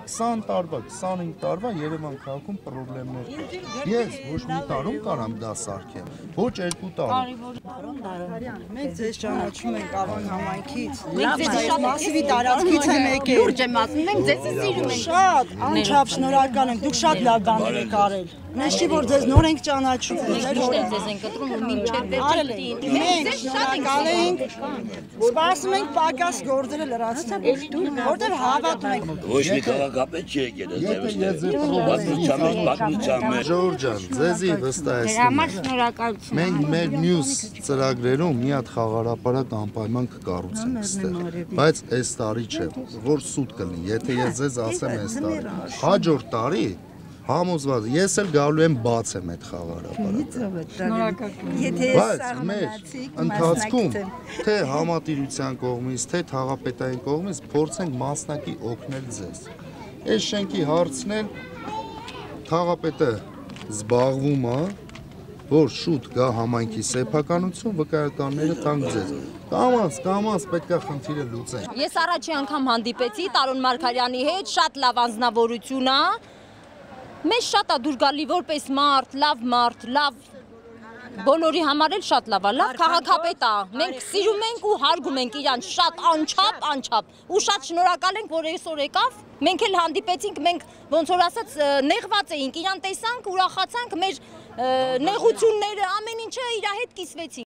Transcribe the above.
20 տարվա, 25 տարվա Երևան քաղաքում խնդիրներ կան։ Ես ոչ մի տարում կարամ դա սարքեմ, ոչ 2 տարում։ Մենք ձեզ ճանաչում ենք Ավան համայնքից։ Լավ, մասիվի տարածքից եմ եկել։ Լուրջ եմ ասում, մենք ձեզ սիրում ենք։ Շատ անչափ շնորհակալ ենք, դուք շատ լավ բաներ եք արել։ Նշի որ ձեզ նոր ենք ճանաչում։ Ձեզ ենք կտրում ու մինչև վերջին։ Մենք շնորհակալ ենք։ Սպասում ենք պակաս գործերը լրացնել, որտեղ հավատում ենք։ Ոչ մի քաղաքապետ չի եկել այստեղ։ Ժողովուրդ ջան, ձեզի վստահեցնում եմ։ Մենք մեր մյուս ծրագրերում մի հատ խաղարապարակ անպայման կկառուցենք այստեղ, բայց այս տարի չէ, որ սուտ կլինի, եթե ես ձեզ ասեմ այս տարի։ Հաջորդ տարի համոզված, ես էլ գալու եմ բացեմ այդ խաղարապարակը։ Բայց մեր ընթացքում թե համատիրության կողմից, թե թաղապետային կողմից փորձենք մասնակի օգնել ձեզ։ Այս շենքի հարցն էլ թաղապետը զբաղվում է, որ շուտ գա համայնքի սեփականություն, վկայականները տանք ձեզ։ Կամաց պետք է խնդիրը լուծենք։ Ես առաջի անգամ հանդիպեցի Տարոն Մարգարյանի հետ, շատ լավ անձնավորություն է։ Մեզ շատ է դուր գալի որպես մարդ, լավ բոլորի համար էլ շատ լավ է, լավ քաղաքապետ է։ Մենք սիրում ենք ու հարգում ենք իրան շատ անչափ ու շատ շնորհակալ ենք, որ այսօր եկավ։ Մենք էլ հանդիպեցինք, մենք ոնց որ ասած նեղված էինք, իրան տեսանք, ուրախացանք, մեր նեղությունները, ամեն ինչը իր հետ կիսվեցինք։